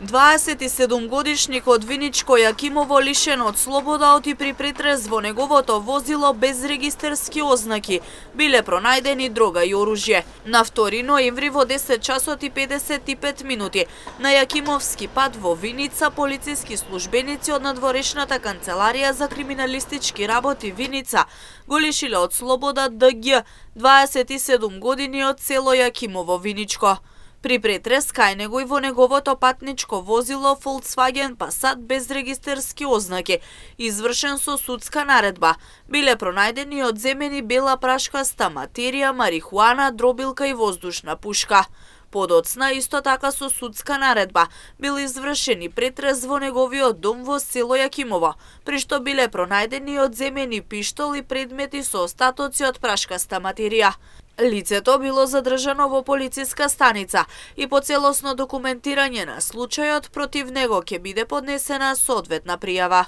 27-годишникот Виничко Јакимово лишен од слобода оти при претрез во неговото возило без регистерски ознаки. Биле пронајдени дрога и оружје. На 2 ноември во 10 часот и 55 минути на Јакимовски пат во Виница полициски службеници од надворешната канцеларија за криминалистички работи Виница го лишиле од слобода ДГ, 27 години од село Јакимово Виничко. При претрес кај него и во неговото патничко возило Volkswagen Passat без регистерски ознаки, извршен со судска наредба, биле пронајдени одземени бела прашкаста материја, марихуана, дробилка и воздушна пушка. Подоцна, исто така со судска наредба, бил извршен и претрес во неговиот дом во село Јакимово, при што биле пронајдени одземени пиштол и предмети со остатоци од прашкаста материја. Лицето било задржано во полициска станица и по целосно документирање на случајот против него ќе биде поднесена соодветна пријава.